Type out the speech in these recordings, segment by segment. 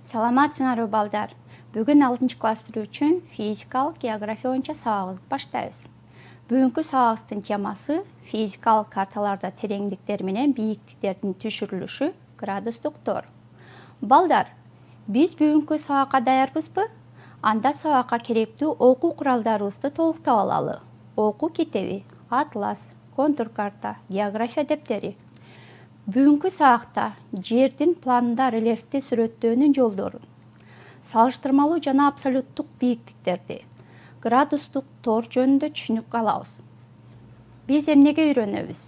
Саламатсыңарбы балдар. Бүгүн 6-класстар үчүн физикалык география боюнча сабагыбызды баштайбыз. Бүгүнкү сабагыбыздын темасы физикалык карталарда тереңдиктер менен бийиктиктердин түшүрүлүшү градустук тор. Балдар, биз бүгүнкү сабакка даярбызбы? Анда сабакка керектүү окуу куралдарыбызды толуктап алалы. Окуу китеби, атлас, контур карта, география дептери. Бүгүнкү сабакта жердин планында рельефти сүрөттөөнүн жолдорун, салыштырмалуу жана абсолюттук бийиктиктерди, градустук тор жөнүндө түшүнүк алабыз. Биз эмнеге үйрөнөбүз?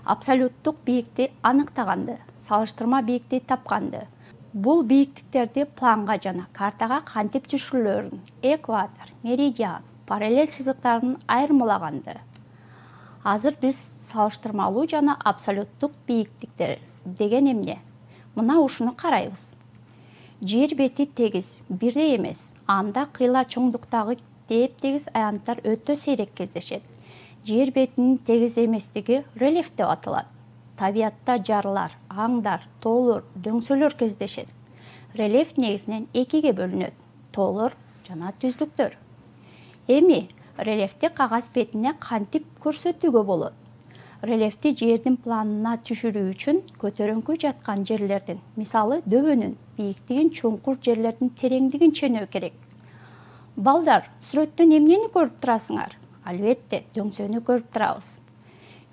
Абсолюттук бийикти аныктаганды, салыштырма бийикти тапканды. Бул бийиктиктерди планга жана картага кантип түшүрүлөрүн, экватор, меридиан, параллель сызыктарын айырмалаганды. Азыр биз салыштырмалуу жана абсолюттук бийиктиктер деген эмне? Мына ушуну карайбыз. Жер бети тегиз, бирдей эмес. Анда кыйла чоңдуктагы теп-тегиз аянттар өтө сейрек кездешет. Жер бетинин тегиз эместиги рельеф деп аталат. Табиятта жарлар, аңдар, тоолор, дөңсөлөр кездешет. Рельеф негизинен экиге бөлүнөт: тоолор жана түздүктөр. Эми рельефти кагаз бетине кантип көрсөтүүгө болот? Рельефти жердин планына түшүрүү үчүн көтөрүңкү жаткан жерлердин, мисалы дөбөнүн бийиктигин, чуңкур жерлердин тереңдигин ченөө керек. Балдар, сүрөттөн эмнени көрүп турасыңар? Албетте, дөңсөнү көрүп турабыз.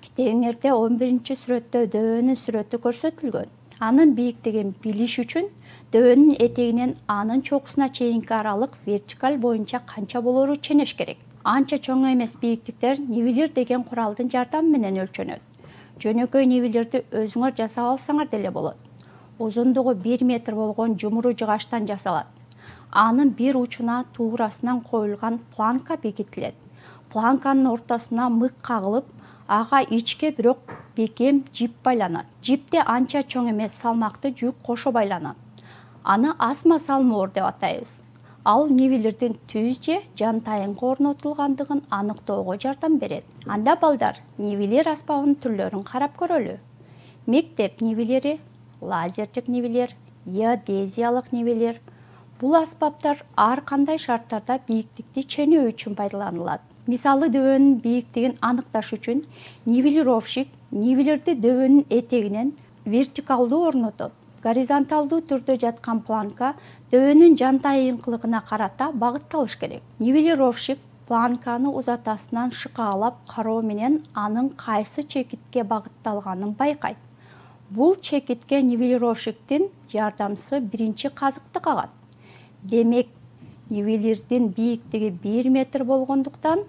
Китебиңерде 11-сүрөттө дөбөнүн сүрөтү көрсөтүлгөн. Анын бийиктигин билиш үчүн дөбөнүн этегинен анын чокусуна чейинки аралык вертикаль боюнча канча болоору ченеш керек. Анча чоң эмес бийиктиктер нивелир деген куралдын жардамы менен өлчөнөт. Жөнөкөй нивелирди өзүңөр жасап алсаңар деле болот. Узундугу 1 метр болгон жумуру жыгачтан жасалат. Анын бир учуна туурасынан коюлган планка бекитилет. Планканын ортосуна мык кагылып, ага ичке бирок бекем жип байланат. Жипте анча чоң эмес салмактуу жүк кошо байланат. Аны асма салмоор деп атайбыз. Ал нивелирдин түз же жантайыңкы орнотулгандыгын аныктоого жардам берет. Анда балдар, нивелир аспабынын түрлөрүн карап көрөлү. Мектеп нивелири, лазердик нивелир, геодезиялык нивелир. Бул аспаптар ар кандай шарттарда бийиктикти ченөө үчүн пайдаланылат. Мисалы дөбөнүн бийиктигин аныкташ үчүн нивелировщик нивелирди дөбөнүн этегинен вертикалдуу орнотот. Горизонталдуу түрдө жаткан планка дөбөнүн жантайыңкылыгына карата багытталыш керек. Нивелировщик планканы узатасынан шыкаалап кароо менен анын кайсы чекитке багытталганын байкайт. Бул чекитке нивелировщиктин жардамчысы биринчи казыкты кагат. Демек, нивелирдин бийиктиги 1 метр болгондуктан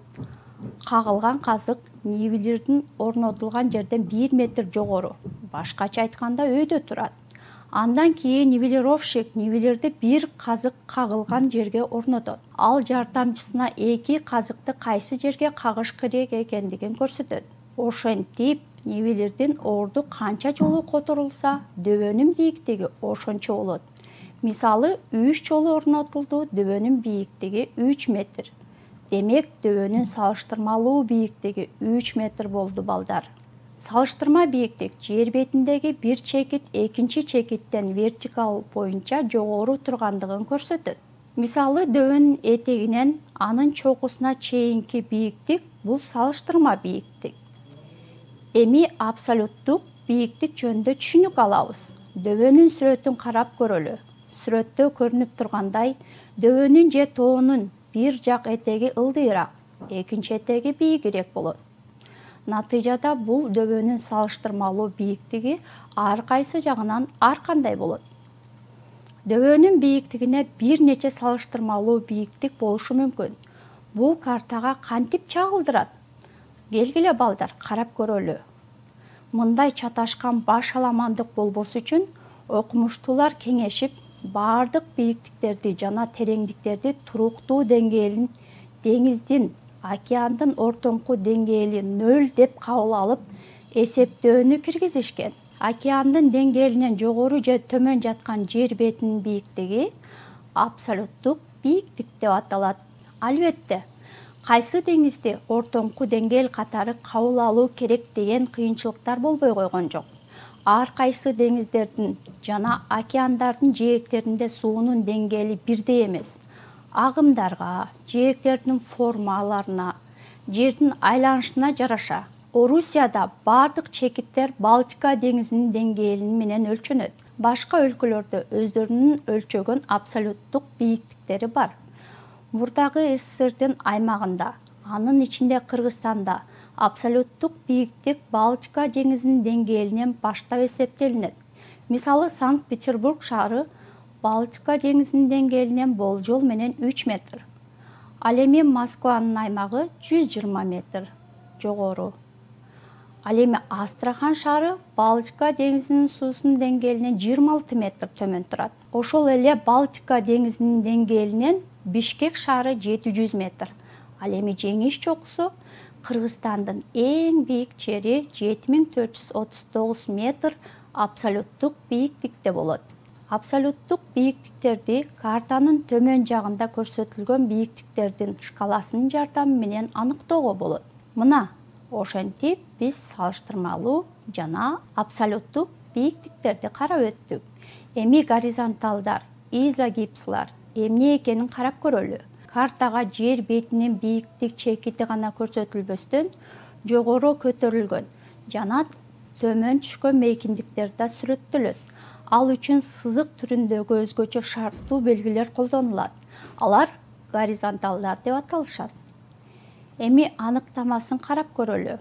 кагылган казык нивелирдин орнотулган жерден 1 метр жогору, башкача айтканда өйдө турат. Андан кийин нивелировщик нивелирди бир казык кагылган жерге орнотот. Ал жардамчысына 2 казыкты кайсы жерге кагыш керек экендигин көрсөтөт. Ошентип, нивелирдин орду канча жолу которулса, дөбөнүн бийиктиги ошончо болот. Мисалы, 3 жолу орнотулду, дөбөнүн бийиктиги 3 метр. Демек, дөбөнүн салыштырмалуу бийиктиги 3 метр болду балдар. Салыштырма бийиктик жер бетиндеги бир чекит экинчи чекиттен вертикаль боюнча жогору тургандыгын көрсөтөт. Мисалы, дөбөнүн этегинен анын чокусуна чейинки бийиктик бул салыштырма бийиктик. Эми абсолюттук бийиктик жөнүндө түшүнүк алабыз. Дөбөнүн сүрөтүн карап көрөлү. Сүрөттө көрүнүп тургандай, дөбөнүн же тоонун бир жак этеги ылдыйраак, экинчи этеги бийигирээк болот. Натыйжада бул дөбөнүн салыштырмалуу бийиктиги ар кайсы жагынан ар кандай болот. Дөбөнүн бийиктигине бир нече салыштырмалуу бийиктик болушу мүмкүн. Бул картага кантип чагылдырат? Келгиле балдар, карап көрөлү. Мындай чаташкан баш аламандык болбосу үчүн окумуштуулар кеңешип, бардык бийиктиктерди жана тереңдиктерди туруктуу деңгээлин деңиздин, океандын ортоңку деңгээли 0 деп кабыл алып, эсептөөнү киргизишкен. Океандын деңгээлинен жогору же төмөн жаткан жер бетинин бийиктиги абсолюттук бийиктик деп аталат. Албетте, кайсы деңизди ортоңку деңгээл катары кабыл алуу керек деген кыйынчылыктар болбой койгон жок. ар кайсы деңиздердин жана океандардын жээктеринде суунун деңгээли бирдей эмес. Агымдарга, жээктердин формаларына, жердин айланышына жараша Орусияда бардык чекиттер Балтика деңизинин деңгээли менен өлчөнөт. Башка өлкөлөрдө өздөрүнүн өлчөгөн абсолюттук бийиктиктери бар. Мурдагы СССРдин аймагында, анын ичинде Кыргызстанда абсолюттук бийиктик Балтика деңизинин деңгээлинен баштап эсептелинет. Мисалы, Санкт-Петербург шаары Балтика деңизинин деңгээлинен болжол менен 3 метр. Ал эми Москванын аймагы 120 метр жогору. Ал эми Астрахан шаары Балтика деңизинин суусунун деңгээлинен 26 метр төмөн турат. Ошол эле Балтика деңизинин деңгээлинен Бишкек шаары 700 метр. Ал эми Жеңиш чокусу Кыргызстандын эң бийик жери 7439 метр абсолюттук бийиктикте болот. Абсолюттук бийиктиктерди картанын төмөн жагында көрсөтүлгөн бийиктиктердин шкаласынын жардамы менен аныктоого болот. Мына ошентип биз салыштырмалуу жана абсолюттук бийиктиктерди карап өттүк. Эми горизонталдар, изогипслар эмне экенин карап көрөлү. Картага жер бетинин бийиктик чекити гана көрсөтүлбөстөн, жогору көтөрүлгөн жана төмөн түшкөн мейкиндиктер да сүрөттөлөт. Ал үчүн сызык түрүндөгү өзгөчө шарттуу белгилер колдонулат. Алар горизонталдар деп аталышат. Эми аныктамасын карап көрөлү.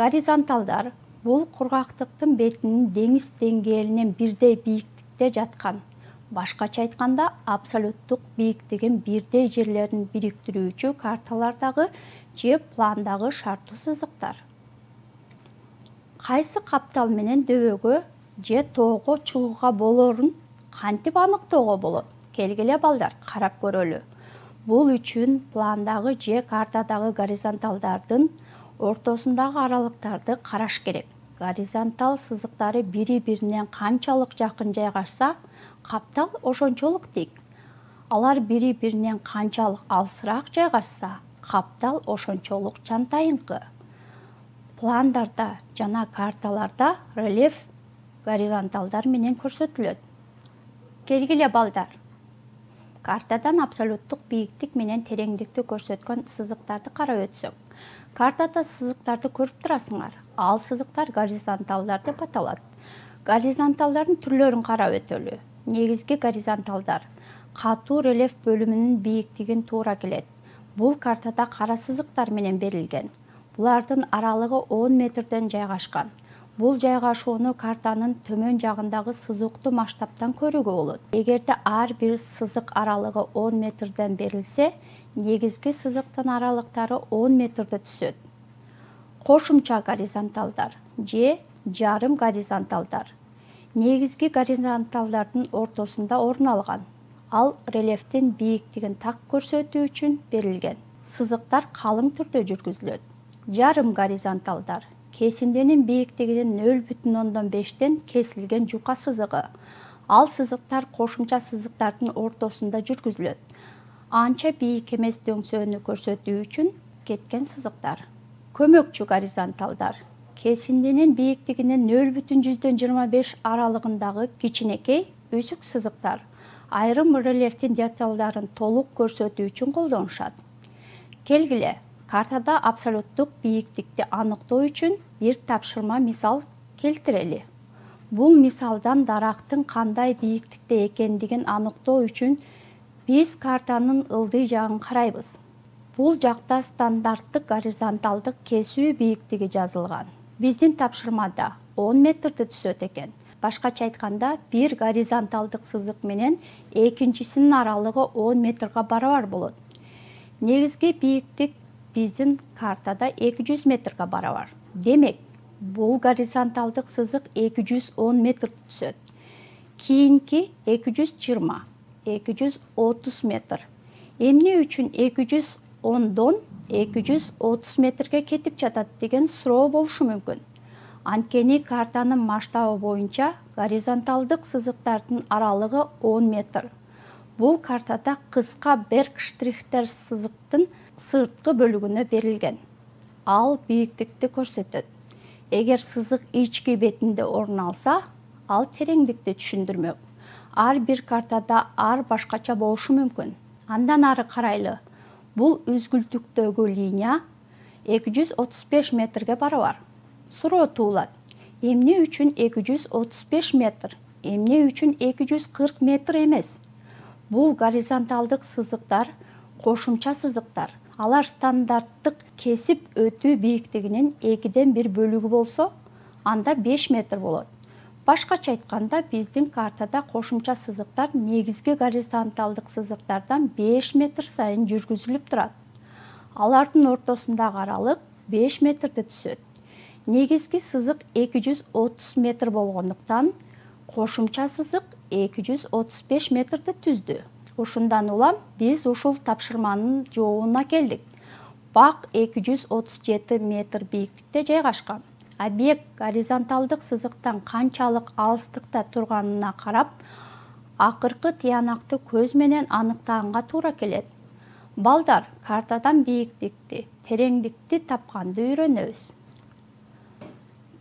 Горизонталдар бул кургактыктын бетинин деңиз деңгээлинен бирдей бийиктикте жаткан. Башкача айтканда, абсолюттук бийиктигин бирдей жерлерин бириктирүүчү карталардагы же пландагы шарттуу сызыктар. Кайсы каптал менен дөбөгө же тоого чыгууга болоорун кантип аныктоого болот? Келгиле балдар, карап көрөлү. Бул үчүн пландагы же картадагы горизонталдардын ортосундагы аралыктарды караш керек. Горизонтал сызыктары бири-биринен канчалык жакын жайгашса, каптал ошончолук тик. Алар бири-биринен канчалык алысыраак жайгашса, каптал ошончолук жантайыңкы. Пландарда жана карталарда рельеф горизонталдар менен көрсөтүлөт. Келгиле балдар. Картадан абсолюттук бийиктик менен тереңдикти көрсөткөн сызыктарды карап өтсөк. Картада сызыктарды көрүп турасыңар. Ал сызыктар горизонталдар деп аталат. Горизонталдардын түрлөрүн карап өтөлү. Негизги горизонталдар катуу рельеф бөлүмүнүн бийиктигин туура келет. Бул картада кара сызыктар менен берилген. Булардын аралыгы 10 метрден жайгашкан. Бул жайгашууну картанын төмөн жагындагы сызыктуу масштабтан көрүүгө болот. Эгерде ар бир сызык аралыгы 10 метрден берилсе, негизги сызыктын аралыктары 10 метрде түзөт. Кошумча горизонталдар же жарым горизонталдар негизги горизонталдардын ортосунда орун алган. Ал рельефтин бийиктигин так көрсөтүү үчүн берилген. Сызыктар калың түрдө жүргүзүлөт. Жарым горизонталдар кесинденин бийиктигинин 0,5тен кесилген жука сызыгы. Ал сызыктар кошумча сызыктардын ортосунда жүргүзүлөт. Анча бийик эмес дөңсөөнү көрсөтүү үчүн кеткен сызыктар. Көмөкчү горизонталдар кесинденин бийиктигинин 0,25 аралыгындагы кичинекей үзүк сызыктар. Айрым рельефтин деталдарын толук көрсөтүү үчүн колдонушат. Келгиле, картада абсолюттук бийиктикти аныктоо үчүн бир тапшырма мисал келтирели. Бул мисалдан дарактын кандай бийиктикте экендигин аныктоо үчүн биз картанын ылдый жагын карайбыз. Бул жакта стандарттык горизонталдык кесүү бийиктиги жазылган. Биздин тапшырмада 10 метрди түзөт экен. Башкача айтканда, бир горизонталдык сызык менен экинчисинин аралыгы 10 метрге барабар болот. Негизги бийиктик биздин картада 200 метрге барабар. Демек, бул горизонталдык сызык 210 метрди түзөт. Кийинки 220, 230 метр. Эмне үчүн 210дон 230 метрге кетип жатат деген суроо болушу мүмкүн. Анткени картанын масштабы боюнча горизонталдык сызыктардын аралыгы 10 метр. Бул картада кыска Берг-штрихтер сызыктын сырткы бөлүгүнө берилген. Ал бийиктикти көрсөтөт. Эгер сызык ички бетинде орун алса, ал тереңдикти түшүндүрмөк. Ар бир картада ар башкача болушу мүмкүн. Андан ары карайлы. Бул үзгүлтүктөгү линия 235 метрге барабар. Суроо туулат. Эмне үчүн 235 метр? Эмне үчүн 240 метр эмес? Бул горизонталдык сызыктар, кошумча сызыктар. Алар стандарттык кесип өтүү бийиктигинин 2/1 бөлүгү болсо, анда 5 метр болот. Башкача айтканда, биздин картада кошумча сызыктар негизги горизонталдык сызыктардан 5 метр сайын жүргүзүлүп турат. Алардын ортосундагы аралык 5 метрди түзөт. Негизги сызык 230 метр болгондуктан, кошумча сызык 235 метрди түздү. Ушундан улам биз ушул тапшырманын жообуна келдик. Бак 237 метр бийиктикте жайгашкан. Объект горизонталдык сызыктан канчалык алыстыкта турганына карап, акыркы тыянакты көз менен аныктаганга туура келет. Балдар, картадан бийиктикти, тереңдикти тапканды үйрөнөбүз.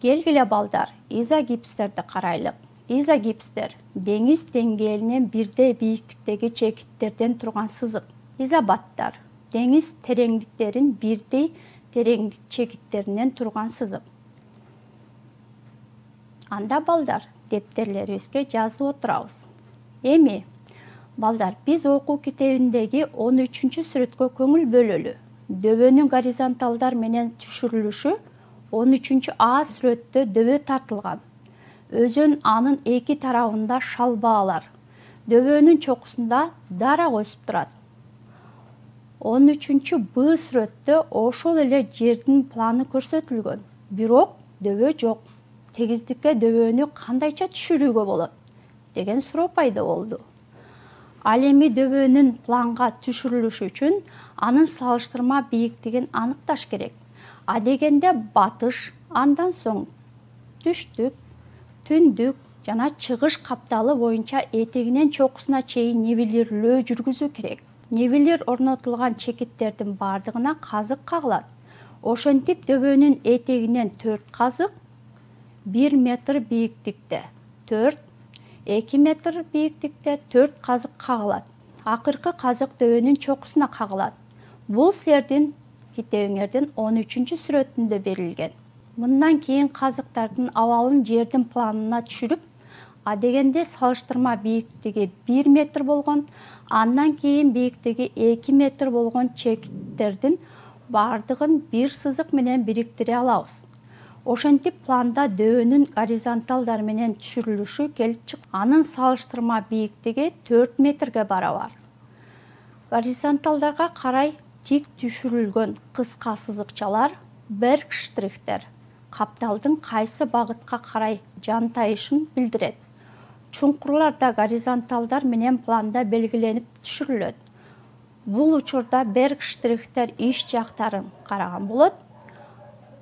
Келгиле балдар, изогипстерди карайлык. Изогипстер деңиз деңгээлинен бирдей бийиктиктеги чекиттерден турган сызык. Изобаттар деңиз тереңдиктерин бирдей тереңдик чекиттеринен турган сызык. Анда балдар, дептерлерибизге жазып отурабыз. Эми, балдар, биз окуу китебиндеги 13-сүрөткө көңүл бөлөлү. Дөбөнүн горизонталдар менен түшүрүлүшү 13А сүрөттө дөбө тартылган. Өзөн анын эки тарабында шалбаалар. Дөбөнүн чокусунда дарак өсүп турат. 13Б сүрөттө ошол эле жердин планы көрсөтүлгөн. Бирок дөбө жок. Тегиздикке дөбөнү кандайча түшүрүүгө болот деген суроо пайда болду. Ал эми дөбөнүн планга түшүрүлүшү үчүн анын салыштырма бийиктигин аныкташ керек. Адегенде батыш, андан соң түштүк, түндүк жана чыгыш капталы боюнча этегинен чокусуна чейин нивелирлөө жүргүзүү керек. Нивелир орнотулган чекиттердин бардыгына казык кагылат. Ошентип дөбөнүн этегинен 4 казык 1 метр бийиктикте, 2 метр бийиктикте 4 казык кагылат. Акыркы казык дөбөнүн чокусуна кагылат. Бул силердин китебиңердин 13-сүрөтүндө берилген. Мындан кийин казыктардын абалын жердин планына түшүрүп, адегенде салыштырма бийиктиги 1 метр болгон, андан кийин бийиктиги 2 метр болгон чекиттердин бардыгын бир сызык менен бириктире алабыз. Ошентип планда дөбөнүн горизонталдар менен түшүрүлүшү келип чыкты. Анын салыштырма бийиктиги 4 метрге барабар. Горизонталдарга карай тик түшүрүлгөн кыска сызыкчалар, берг-штрихтер, капталдын кайсы багытка карай жантайышын билдирет. Чуңкурлар да горизонталдар менен планда белгиленип түшүрүлөт. Бул учурда берг-штрихтер иш жактарын караган болот.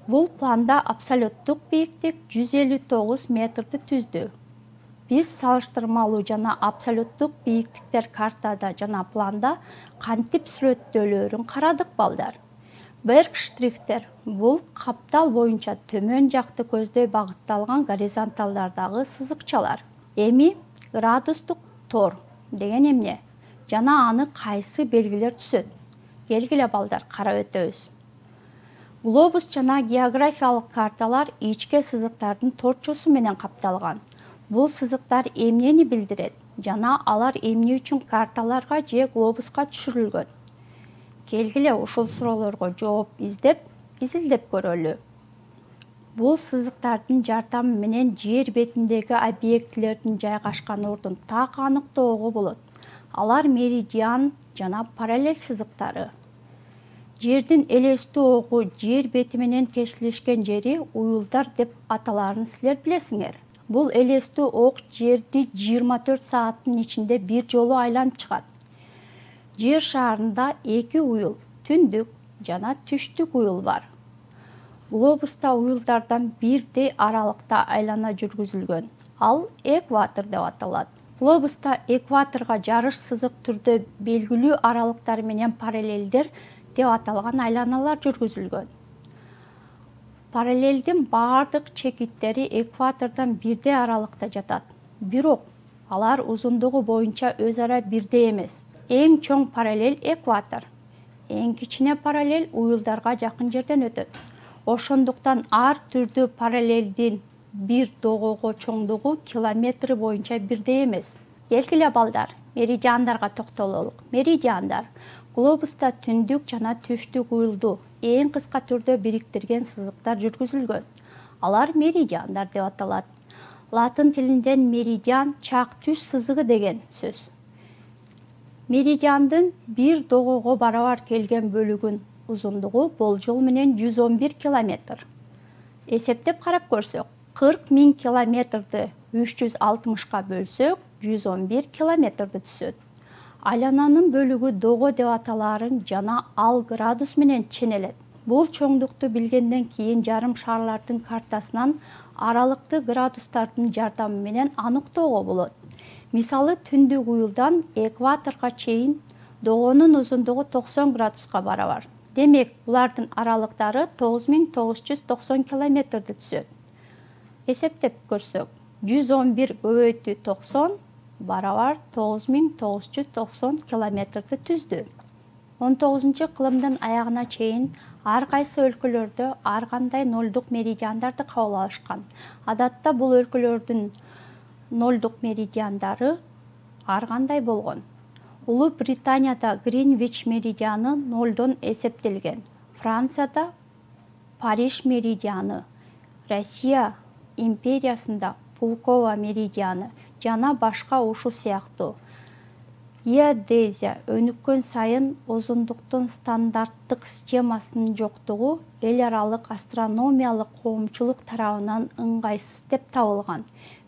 Бул планда абсолюттук бийиктик 159 метрди түздү. Биз салыштырмалуу жана абсолюттук бийиктиктер картада жана планда кантип сүрөттөлөрүн карадык балдар. Берг-штрихтер бул каптал боюнча төмөн жакты көздөй багытталган горизонталдардагы сызыкчалар. Эми градустук тор деген эмне жана аны кайсы белгилер түзөт? Келгиле балдар, карап өтөбүз. Глобус жана географиялык карталар ичке сызыктардын торчосу менен капталган. Бул сызыктар эмнени билдирет жана алар эмне үчүн карталарга же глобуска түшүрүлгөн? Келгиле ушул суроолорго жооп изилдеп көрөлү. Бул сызыктардын жардамы менен жер бетиндеги объектилердин жайгашкан ордун так аныктоого болот. Алар меридиан жана параллель сызыктары. Жердин элестүү огу жер бети менен кесилишкен жери уюлдар деп аталарын силер билесиңер. Бул элестүү ок жерди 24 сааттын ичинде бир жолу айланып чыгат. Жер шарында 2 уюл, түндүк жана түштүк уюл бар. Глобуста уюлдардан бирдей аралыкта айлана жүргүзүлгөн. Ал экватор деп аталат. Глобуста экваторго жарыш сызык түрдө белгилүү аралыктар менен параллелдер деп аталган айланалар жүргүзүлгөн. Параллелдин бардык чекиттери экватордон бирдей аралыкта жатат. Бирок алар узундугу боюнча өз ара бирдей эмес. Эң чоң параллель экватор. Эң кичине параллель уюлдарга жакын жерден өтөт. Ошондуктан ар түрдүү параллелдин бир догого чоңдугу километри боюнча бирдей эмес. Келгиле балдар, меридиандарга токтололук. Меридиандар глобуста түндүк жана түштүк уюлду эң кыска түрдө бириктирген сызыктар жүргүзүлгөн. Алар меридиандар деп аталат. Латын тилинден меридиан чак түш сызыгы деген сөз. Меридиандын бир догого барабар келген бөлүгүн узундугу болжол менен 111 километр. Эсептеп карап көрсөк, 40 000 километрди 360ка бөлсөк, 111 километрди түзөт. Айлананын бөлүгү дого деп аталаарын жана ал градус менен ченелет. Бул чоңдукту билгенден кийин жарым шарлардын картасынан аралыкты градустардын жардамы менен аныктоого болот. Мисалы, түндүк уюлдан экваторго чейин догонун узундугу 90 градуска барабар. Демек, булардын аралыктары 9990 километрди түзөт. Эсептеп көрсөк, 111 көбөйтүү 90 барабар 9990 километрди түздү. 19-кылымдын аягына чейин ар кайсы өлкөлөрдө ар кандай нолдук меридиандарды кабыл алышкан. Адатта бул өлкөлөрдүн нолдук меридиандары ар кандай болгон. Улуу Британияда Гринвич меридианы нолдон эсептелген. Францияда Париж меридианы, Россия империясында Пулково меридианы жана башка ушул сыяктуу. Геодезия өнүккөн сайын узундуктун стандарттык схемасынын жоктугу эл аралык астрономиялык коомчулук тарабынан ыңгайсыз деп табылган.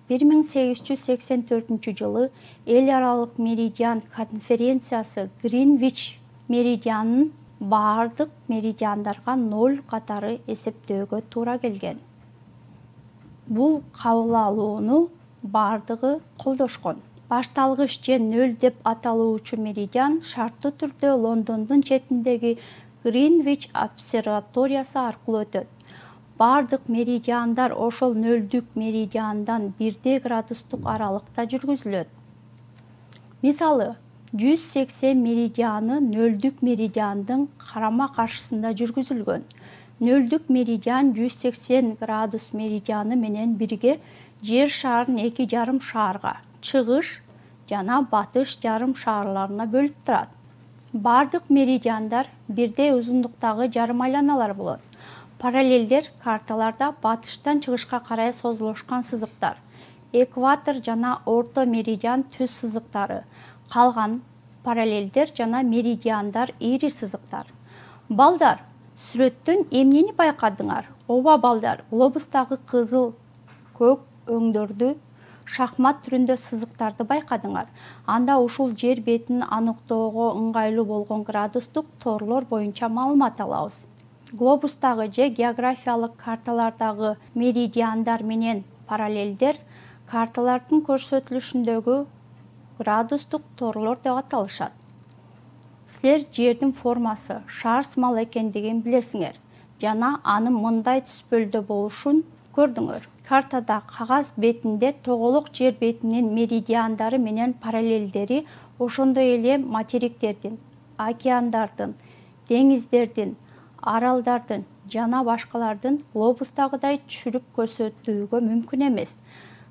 1884-жылы эл аралык меридиан конференциясы Гринвич меридианын бардык меридиандарга 0 катары эсептөөгө туура келген. Бул кабыл алууну бардыгы колдошкон. Башталгыч же 0 деп аталуучу меридиан шарттуу түрдө Лондондун четиндеги Гринвич обсерваториясы аркылуу өтөт. Бардык меридиандар ошол нөлдүк меридиандан 1 градустук аралыкта жүргүзүлөт. Мисалы, 180 меридианы нөлдүк меридиандын карама каршысында жүргүзүлгөн. Нөлдүк меридиан 180 градус меридианы менен бирге жер шарын 2 жарым шаарга, чыгыш жана батыш жарым шаарларына бөлүп турат. Бардык меридиандар бирдей узундуктагы жарым айланалар болот. Параллелдер карталарда батыштан чыгышка карай созулушкан сызыктар. Экватор жана орто меридиан түз сызыктары. Калган параллелдер жана меридиандар ири сызыктар. Балдар, сүрөттөн эмнени байкадыңар? Ооба балдар, глобустагы кызыл, көк өңдөрдү шахмат түрүндө сызыктарды байкадыңар. Анда ушул жер бетин аныктоого ыңгайлуу болгон градустук торлор боюнча маалымат алабыз. Глобустагы же географиялык карталардагы меридиандар менен параллелдер карталардын көрсөтүлүшүндөгү градустук торлор деп аталышат. Силер жердин формасы шар сымал экендигин билесиңер жана анын мындай түспөлдө болушун көрдүңөр. Картада кагаз бетинде тоголок жер бетинин меридиандары менен параллелдери ошондой эле материктердин, океандардын, деңиздердин, аралдардын жана башкалардын глобустагыдай түшүрүп көрсөтүүгө мүмкүн эмес.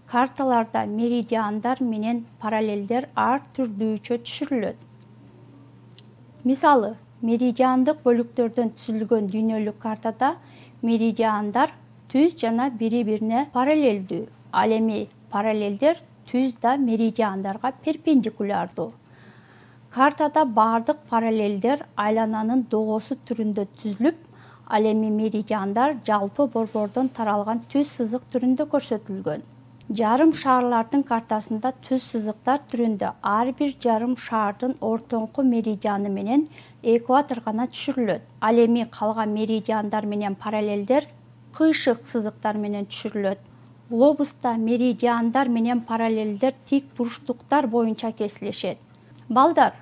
Карталарда меридиандар менен параллелдер ар түрдүүчө түшүрүлөт. Мисалы, меридиандык бөлүктөрдөн түзүлгөн дүйнөлүк картада меридиандар түз жана бири-бирине параллелдүү. Ал эми параллелдер түз да меридиандарга перпендикулярдуу. Картада бардык параллелдер айлананын догосу түрүндө түзүлүп, ал эми меридиандар жалпы борбордон таралган түз сызык түрүндө көрсөтүлгөн. Жарым шаарлардын картасында түз сызыктар түрүндө ар бир жарым шаардын ортоңку меридианы менен экватор гана түшүрүлөт. Ал эми калган меридиандар менен параллелдер кыйшык сызыктар менен түшүрүлөт. Глобуста меридиандар менен параллелдер тик бурчтуктар боюнча кесилишет. Балдар,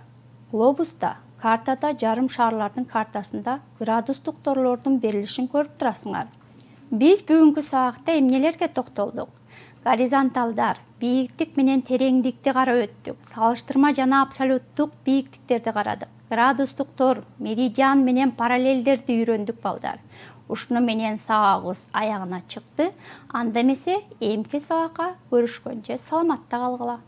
глобуста картада жарым шаарлардын картасында градустук торлордун берилишин көрүп турасыңар. Биз бүгүнкү сабакта эмнелерге токтолдук? Горизонталдар, бийиктик менен тереңдикти карап өттүк. Салыштырма жана абсолюттук бийиктиктерди карадык. Градустуктор, меридиан менен параллелдерди үйрөндүк балдар. Ушуну менен сабагыбыз аягына чыкты. Анда эмесе эмки сабакка көрүшкөнчө саламатта калгыла.